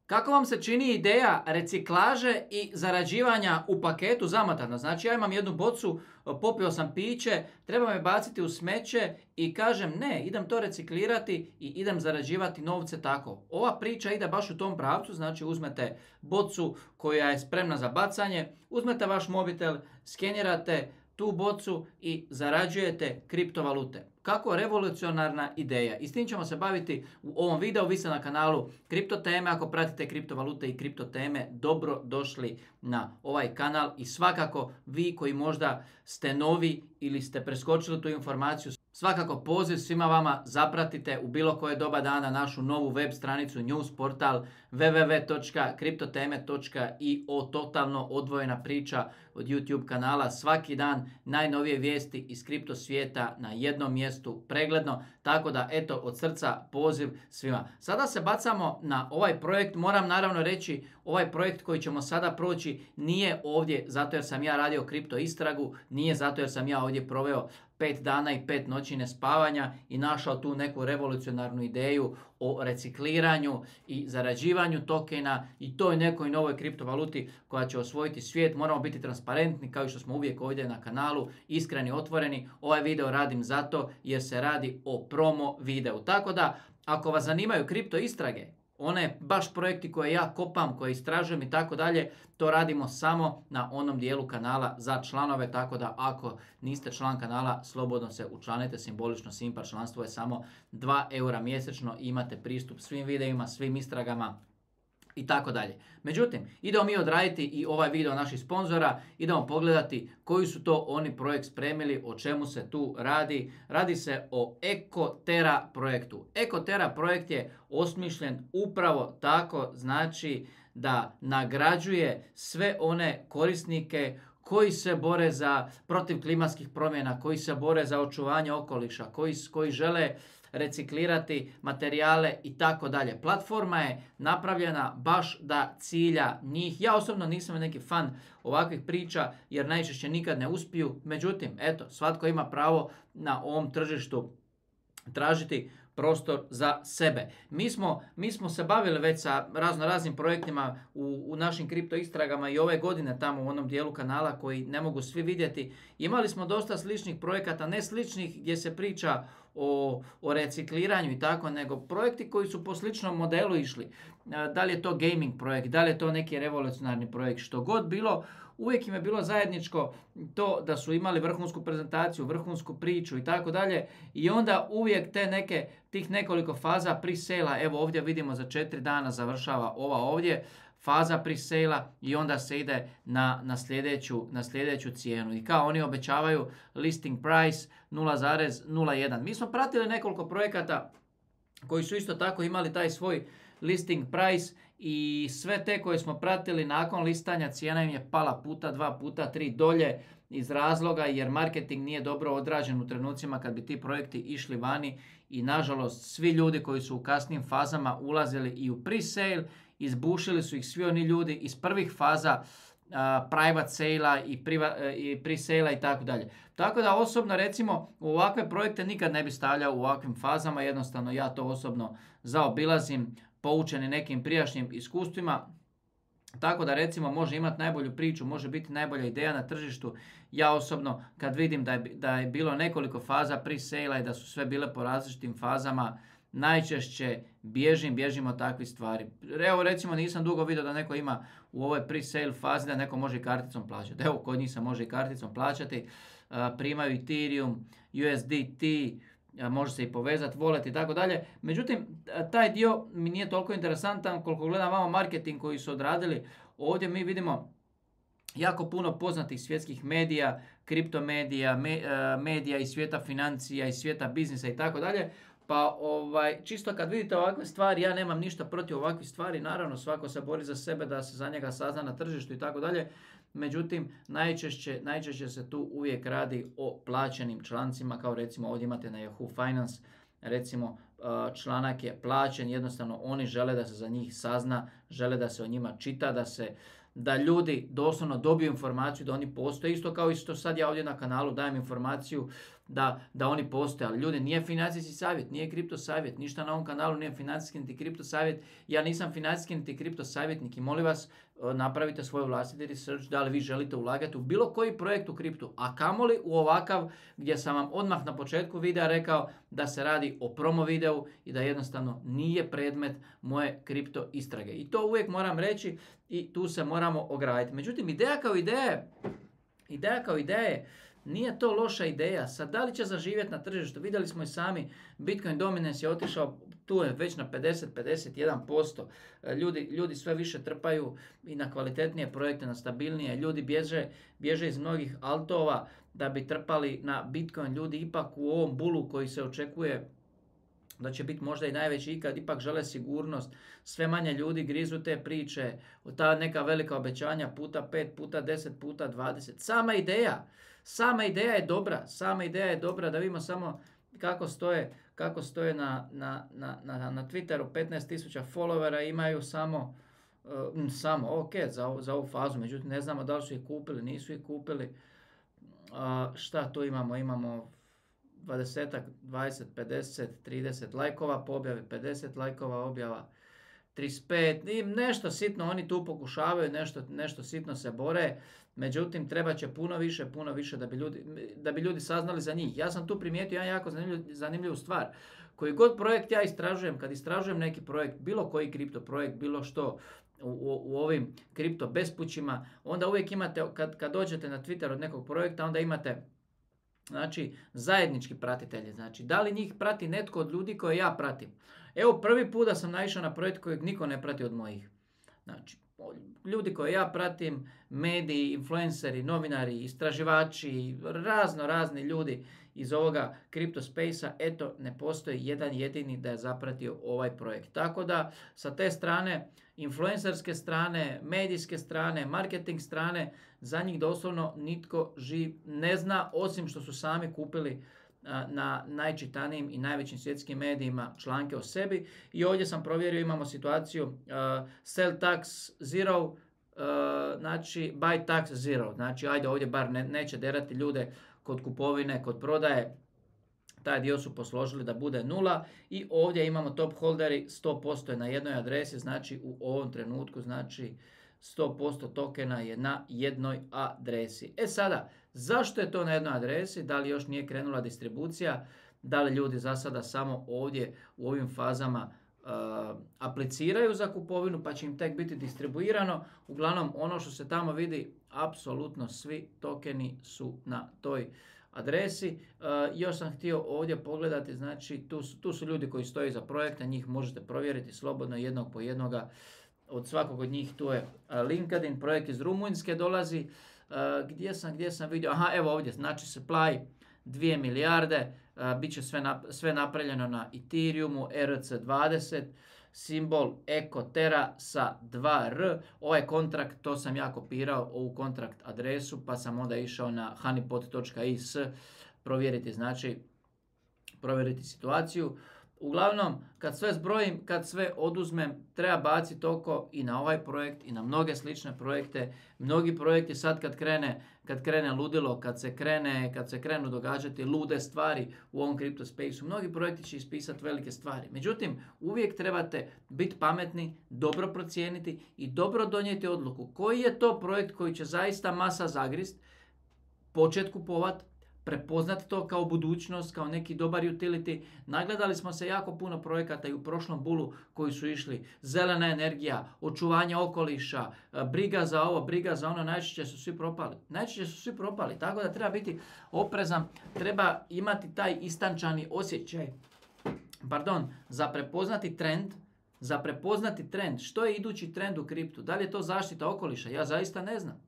Kako vam se čini ideja reciklaže i zarađivanja u paketu zamotano? Znači ja imam jednu bocu, popio sam piće, treba me baciti u smeće i kažem ne, idem to reciklirati i idem zarađivati novce tako. Ova priča ide baš u tom pravcu, znači uzmete bocu koja je spremna za bacanje, uzmete vaš mobitel, skenirate tu bocu i zarađujete kriptovalute. Kako revolucionarna ideja. I s tim ćemo se baviti u ovom videu. Vi ste na kanalu Kripto teme. Ako pratite kriptovalute i kripto teme, dobro došli na ovaj kanal. I svakako vi koji možda ste novi ili ste preskočili tu informaciju, svakako poziv svima vama, zapratite u bilo koje doba dana našu novu web stranicu, news portal www.kriptoteme.io, totalno odvojena priča od YouTube kanala. Svaki dan najnovije vijesti iz kripto svijeta na jednom mjestu, pregledno. Tako da eto, od srca poziv svima. Sada se bacamo na ovaj projekt. Moram naravno reći, ovaj projekt koji ćemo sada proći nije ovdje zato jer sam ja radio kripto istragu, nije zato jer sam ja ovdje proveo 5 dana i 5 noći nespavanja i našao tu neku revolucionarnu ideju o recikliranju i zarađivanju tokena i toj nekoj novoj kriptovaluti koja će osvojiti svijet. Moramo biti transparentni kao što smo uvijek ovdje na kanalu, iskreni, otvoreni. Ovaj video radim zato jer se radi o promo videu. Tako da, ako vas zanimaju kripto istrage, one baš projekti koje ja kopam, koje istražujem i tako dalje, to radimo samo na onom dijelu kanala za članove, tako da ako niste član kanala, slobodno se učlanite, simbolično Simpar članstvo je samo 2 eura mjesečno i imate pristup svim videima, svim istragama i tako dalje. Međutim, idemo mi odraditi i ovaj video naših sponzora, idemo pogledati koji su to oni projekt spremili, o čemu se tu radi. Radi se o Ekotera projektu. Ekotera projekt je osmišljen upravo tako, znači da nagrađuje sve one korisnike koji se bore protiv klimatskih promjena, koji se bore za očuvanje okoliša, koji žele reciklirati materijale i tako dalje. Platforma je napravljena baš da cilja njih. Ja osobno nisam neki fan ovakvih priča jer najčešće nikad ne uspiju. Međutim, eto, svatko ima pravo na ovom tržištu tražiti prostor za sebe. Mi smo se bavili već sa raznim projektima u našim kripto istragama i ove godine tamo u onom dijelu kanala koji ne mogu svi vidjeti. Imali smo dosta sličnih projekata, ne sličnih gdje se priča o recikliranju i tako, nego projekti koji su po sličnom modelu išli. Da li je to gaming projekt, da li je to neki revolucionarni projekt, što god bilo, uvijek im je bilo zajedničko to da su imali vrhunsku prezentaciju, vrhunsku priču i tako dalje i onda uvijek tih nekoliko faza pre-sale-a, evo ovdje vidimo za 4 dana završava ova ovdje, faza pre-sale-a i onda se ide na sljedeću cijenu. I kao oni obećavaju listing price 0,01. Mi smo pratili nekoliko projekata koji su isto tako imali taj svoj listing price i sve te koje smo pratili nakon listanja cijena im je pala puta 2, puta 3 dolje iz razloga jer marketing nije dobro odrađen u trenucima kad bi ti projekti išli vani i nažalost svi ljudi koji su u kasnim fazama ulazili i u pre-sale, izbušili su ih svi oni ljudi iz prvih faza private sale-a i pre-sale-a i tako dalje. Tako da osobno recimo u ovakve projekte nikad ne bi stavljao u ovakvim fazama, jednostavno ja to osobno zaobilazim poučeni nekim prijašnjim iskustvima. Tako da recimo može imati najbolju priču, može biti najbolja ideja na tržištu. Ja osobno kad vidim da je bilo nekoliko faza pre-sale-a i da su sve bile po različitim fazama, najčešće bježim od takvih stvari. Evo recimo nisam dugo vidio da neko ima u ovoj pre-sale fazi da neko može i karticom plaćati. Evo kod njih se može i karticom plaćati. Primaju Ethereum, USDT, može se i povezati, wallet i tako dalje. Međutim, taj dio mi nije toliko interesantan koliko gledam vamo marketing koji su odradili. Ovdje mi vidimo jako puno poznatih svjetskih medija, kriptomedija, medija iz svijeta financija, iz svijeta biznisa i tako dalje. Pa čisto kad vidite ovakve stvari, ja nemam ništa protiv ovakvih stvari, naravno svako se bori za sebe da se za njega sazna na tržištu i tako dalje. Međutim, najčešće se tu uvijek radi o plaćenim člancima, kao recimo ovdje imate na Yahoo Finance, recimo članak je plaćen, jednostavno oni žele da se za njih sazna, žele da se o njima čita, da ljudi doslovno dobiju informaciju da oni postoje, isto kao isto sad ja ovdje na kanalu dajem informaciju da oni postoje, ali ljudi, nije financijski savjet, nije kripto savjet, ništa na ovom kanalu nije financijski niti kripto savjet, ja nisam financijski niti kripto savjetnik i molim vas, napravite svoj vlastiti research da li vi želite ulagati u bilo koji projekt u kriptu, a kamoli u ovakav gdje sam vam odmah na početku videa rekao da se radi o promo videu i da jednostavno nije predmet moje kripto istrage. I to uvijek moram reći i tu se moramo ograditi. Međutim, ideja kao ideja nije to loša ideja. Sad, da li će zaživjeti na tržištu? Vidjeli smo i sami, Bitcoin dominance je otišao, tu je već na 50-51%. Ljudi sve više trpaju i na kvalitetnije projekte, na stabilnije. Ljudi bježe iz mnogih altova da bi trpali na Bitcoin. Ljudi ipak u ovom bulu koji se očekuje da će biti možda i najveći ikad, ipak žele sigurnost. Sve manje ljudi grizu te priče, ta neka velika obećanja puta 5, puta 10, puta 20. Sama ideja je dobra, da vidimo samo kako stoje na Twitteru. 15.000 followera imaju samo ok, za ovu fazu, međutim ne znamo da li su ih kupili, nisu ih kupili. Šta tu imamo? Imamo 20, 50, 30 lajkova po objavi, 50 lajkova objava, 35, i nešto sitno oni tu pokušavaju, nešto sitno se bore, međutim treba će puno više da bi ljudi saznali za njih. Ja sam tu primijetio jedan jako zanimljivu stvar. Koji god projekt ja istražujem, kad istražujem neki projekt, bilo koji kripto projekt, bilo što, u ovim kripto bespućima, onda uvijek imate, kad dođete na Twitter od nekog projekta, onda imate zajednički pratitelji. Znači, da li njih prati netko od ljudi koje ja pratim? Evo, prvi put da sam naišao na projekt kojeg niko ne prati od mojih. Znači, ljudi koje ja pratim, mediji, influenceri, novinari, istraživači, razni ljudi iz ovoga kripto space-a, eto, ne postoji jedan jedini da je zapratio ovaj projekt. Tako da, sa te strane, influencerske strane, medijske strane, marketing strane, za njih doslovno nitko živ ne zna, osim što su sami kupili na najčitanijim i najvećim svjetskim medijima članke o sebi. I ovdje sam provjerio, imamo situaciju sell tax zero, znači buy tax zero. Znači, ajde, ovdje bar neće derati ljude kod kupovine, kod prodaje. Taj dio su posložili da bude 0 i ovdje imamo top holderi, 100% je na jednoj adresi, znači u ovom trenutku, znači 100% tokena je na jednoj adresi. E sada, zašto je to na jednoj adresi? Da li još nije krenula distribucija? Da li ljudi za sada samo ovdje u ovim fazama apliciraju za kupovinu pa će im tek biti distribuirano? Uglavnom, ono što se tamo vidi, apsolutno svi tokeni su na toj adresi. Još sam htio ovdje pogledati, znači tu su ljudi koji stoji za projekta, njih možete provjeriti slobodno jednog po jednoga. Od svakog od njih tu je LinkedIn, projekt iz Rumunjske dolazi. Gdje sam vidio? Aha, evo ovdje, znači supply 2 milijarde, bit će sve napravljeno na Ethereumu, ERC20, simbol EcoTera sa 2R. Ovaj kontrakt, to sam ja kopirao, ovu kontrakt adresu, pa sam onda išao na honeypot.is provjeriti situaciju. Uglavnom, kad sve zbrojim, kad sve oduzmem, treba baciti oko i na ovaj projekt i na mnoge slične projekte. Mnogi projekti sad kad krene ludilo, kad se krenu događati lude stvari u ovom kripto space-u, mnogi projekti će ispisati velike stvari. Međutim, uvijek trebate biti pametni, dobro procijeniti i dobro donijeti odluku. Koji je to projekt koji će zaista masa zagrist, početi kupovati, prepoznati to kao budućnost, kao neki dobar utility. Nagledali smo se jako puno projekata i u prošlom bulu koji su išli. Zelena energija, očuvanje okoliša, briga za ovo, briga za ono, najčešće su svi propali. Tako da treba biti oprezan, treba imati taj istančani osjećaj. Za prepoznati trend. Što je idući trend u kriptu? Da li je to zaštita okoliša? Ja zaista ne znam.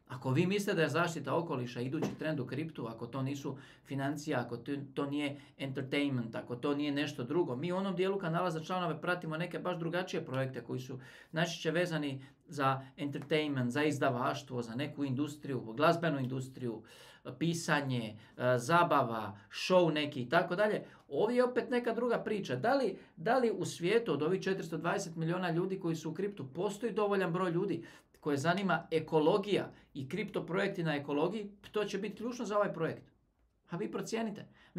Ako vi mislite da je zaštita okoliša idući trend u kriptu, ako to nisu financija, ako to nije entertainment, ako to nije nešto drugo, mi u onom dijelu kanala za članove pratimo neke baš drugačije projekte koji su najčešće vezani za entertainment, za izdavaštvo, za neku industriju, glazbenu industriju, pisanje, zabava, show neki i tako dalje. Ovdje je opet neka druga priča. Da li u svijetu od ovih 420 milijuna ljudi koji su u kriptu postoji dovoljan broj ljudi koje zanima ekologija i kripto projekti na ekologiji? To će biti ključno za ovaj projekt. A vi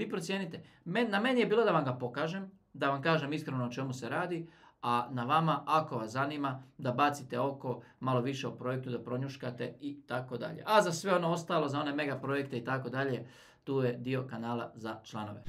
procijenite. Na meni je bilo da vam ga pokažem, da vam kažem iskreno o čemu se radi, a na vama, ako vas zanima, da bacite oko malo više o projektu, da pronjuškate i tako dalje. A za sve ono ostalo, za one mega projekte i tako dalje, tu je dio kanala za članove.